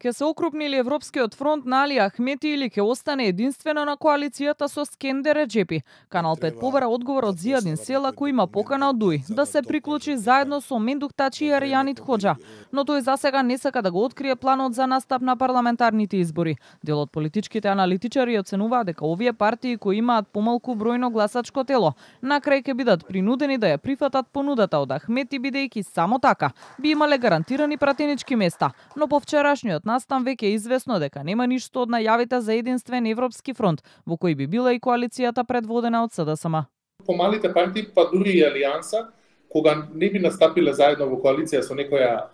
Ке се окрупни ли Европскиот фронт на Али Ахмети или ке остане единствено на коалицијата со Скендер Реджепи? Канал 5 побара одговор од Зијадин Села, кој има покана од Дуј да се приклучи заедно со Мендук Тачи и Аријанит Хоџа, но тој засега не сака да го открие планот за настап на парламентарните избори. Дел од политичките аналитичари оценуваат дека овие партии кои имаат помалку бројно гласачко тело, на крај ќе бидат принудени да ја прифатат понудата од Ахмети, бидејќи само така би имале гарантирани пратенички места, но по вчерашниот настан веќе е известно дека нема ништо од најавите за единствен европски фронт, во кој би била и коалицијата предводена од СДСМ. Помалите партии, па дури и Алијанса, кога не би настапиле заедно во коалиција со некоја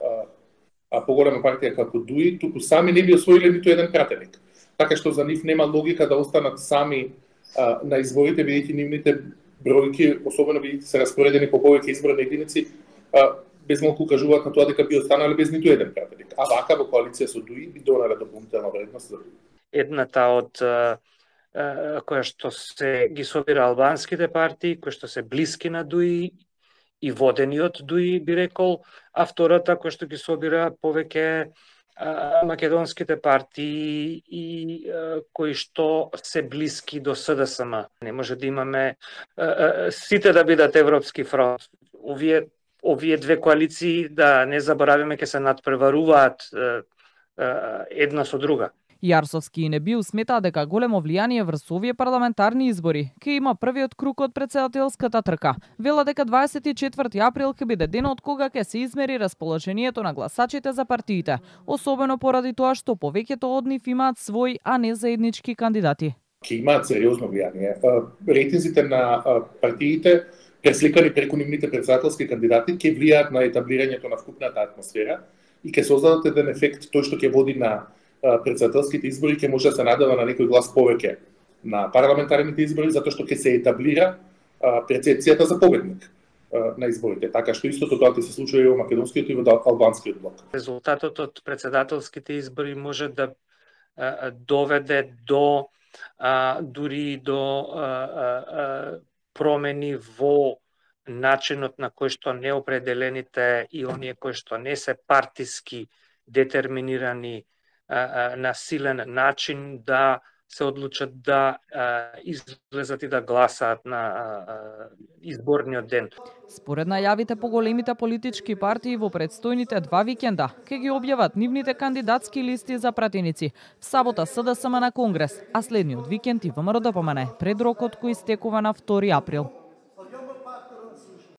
поголема партија како ДУИ, туку сами не би освоиле ниту еден пратеник. Така што за нив нема логика да останат сами на изборите, бидејќи нивните бројки, особено бидејќи се распоредени по повеќе изборни единици, без малку укажуваат на тоа дека би останале без ниту еден пратеник. А вака во коалиција со ДУИ би донеле дополнителна вредност за ДУИ. Едната од која што се ги собира албанските партии, кои што се блиски на ДУИ и водени од ДУИ, би рекол, а втората која што ги собира повеќе македонските партии и кои што се блиски до СДСМ. Не може да имаме сите да бидат Европски фронт. Овие две коалиции, да не забораваме, ќе се надпреваруваат една со друга. Јарсовски и Небиу сметаа дека големо влијание врз овие парламентарни избори ќе има првиот круг од претседателската трка. Вела дека 24 април ќе биде денот кога ќе се измери расположението на гласачите за партиите, особено поради тоа што повеќето од нив имаат свој, а не заеднички кандидати. Ќе имаат сериозно влијание. Рейтинзите на партиите пресликани преку нивните претседателски кандидати ќе влијаат на етаблирањето на вкупната атмосфера и ќе создадат еден ефект тој што ќе води на претседателските избори, ќе може да се надава на некој глас повеќе на парламентарните избори, затоа што ќе се етаблира перцепцијата за победник на изборите. Така што истото тоа ќе се случува и во македонскиот и во албанскиот блок. Резултатот од претседателските избори може да доведе до дури до промени во начинот на кој што неопределените и оние кои што не се партиски детерминирани на силен начин да се одлучат да излезат и да гласаат на изборниот ден. Според најавите по големите политички партии во предстојните 2 викенда ќе ги објават нивните кандидатски листи за пратеници. В сабота СДСМ на Конгрес, а следниот викенд и ВМРО ДПМН пред рокот кој истекува на 2 април.